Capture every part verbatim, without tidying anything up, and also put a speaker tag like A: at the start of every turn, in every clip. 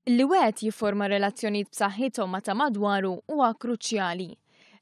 A: Li wieħed jifforma relazzjonijiet b'saħħithom ma' ta' madwaru huwa kruċjali.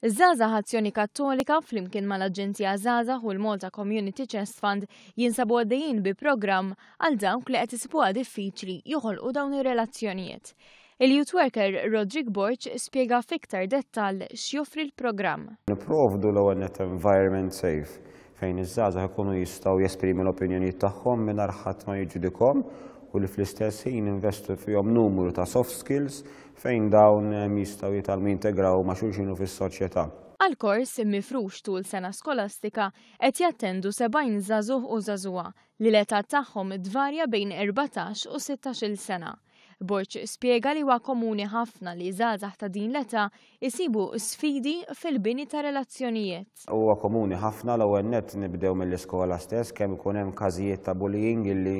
A: Żgħażagħ Azzjoni Kattolika flimkien mal-Aġenzija Żgħażagħ u l-Malta Community Chest Fund jinsabu għaddejjin bi programm għal dawk li qed isibuha diffiċli joħolqu dawn ir-relazzjonijiet. Il-youth worker Roderick Borg spjega f'iktar dettall x'joffri l-programm.
B: Nipprovdu l-ewwel net environment safe fejn iż-żgħażagħ ikunu jistgħu jesprimi l-opinjonijiet tagħhom mingħajr ħadd ma jiġġudikahom u li fl-istess ħin investu fihom numru ta' soft skills fejn dawn jistgħu jitgħallmu jintegraw ma' xulxin u fis-soċjetà.
A: Għal-kors mifrux tul sena skolastika qed jattendu sebgħin żagħżugħ u żagħżugħa li l-età tagħhom tvarja bejn erbatax u sittax-il sena. Borg spjega li huwa komuni ħafna li żgħażagħ ta' din l-età isibu sfidi fil-bini ta' relazzjonijiet.
B: Huwa komuni ħafna. L-ewwel nett nibdew mill-iskola stess, kemm ikun hemm każijiet ta' bullying illi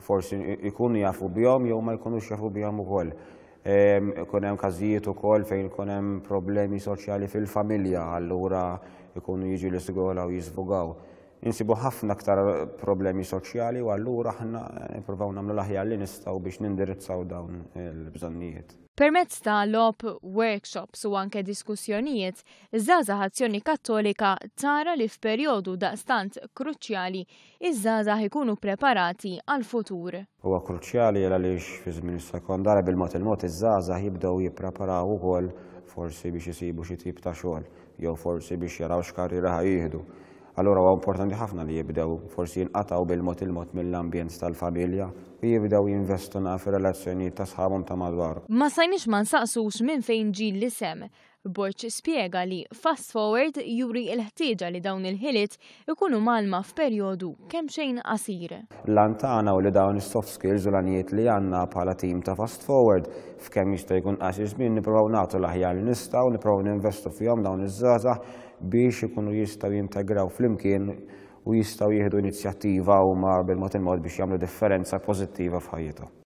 B: forsi ikunu jafu bihom jew ma jkunux jafu bihom ukoll. Ikun hemm każijiet ukoll fejn ikun hemm problemi soċjali fil-familja, allura ikunu jiġu l-iskola u jiżvugaw. Insibu ħafna aktar problemi soċjali u allura aħna nippruvaw nagħmlu l-aħjar li nistgħu biex nindirizzaw dawn il-bżonnijiet.
A: Permezz ta' logħob, workshops u anke diskussjonijiet, Żgħażagħ Azzjoni Kattolika tara li f'perjodu daqstant kruċjali iż-żgħażagħ ikunu preparati għal-futur.
B: Huwa kruċjali għaliex fi żmien is-sekondarja bil-mod il-mod iż-żgħażagħ jibdew jippreparaw ukoll forsi biex isibu xi tip ta' xogħol jew forsi biex jaraw x'karriera ħa jieħdu. Allura huwa importanti ħafna li jibdew forsi jinqatgħu bil-mod il-mod mill-ambjent tal-familja u jibdew jinvestu naqra fir-relazzjonijiet ta' sħabhom ta' madwar.
A: Ma stajniex ma nsaqsux minn fejn ġie l-isem. Borg spjega li Fast Forward juri l-ħtieġa li dawn il-ħiliet ikunu mgħallma f'perjodu kemm xejn qasir.
B: L-għan tagħna u li dawn is-soft skills u l-għanijiet li għandna bħala tim ta' Fast Forward f'kemm jista' jkun qasir żmien nippruvaw nagħtu l-aħjar li nistgħu, nippruvaw ninvestu fihom dawn iż-żgħażagħ biex ikunu jistgħu jintegraw flimkien u jistgħu jieħdu inizjattiva huma bil-mod il-mod biex jagħmlu differenza pożittiva f'ħajjithom.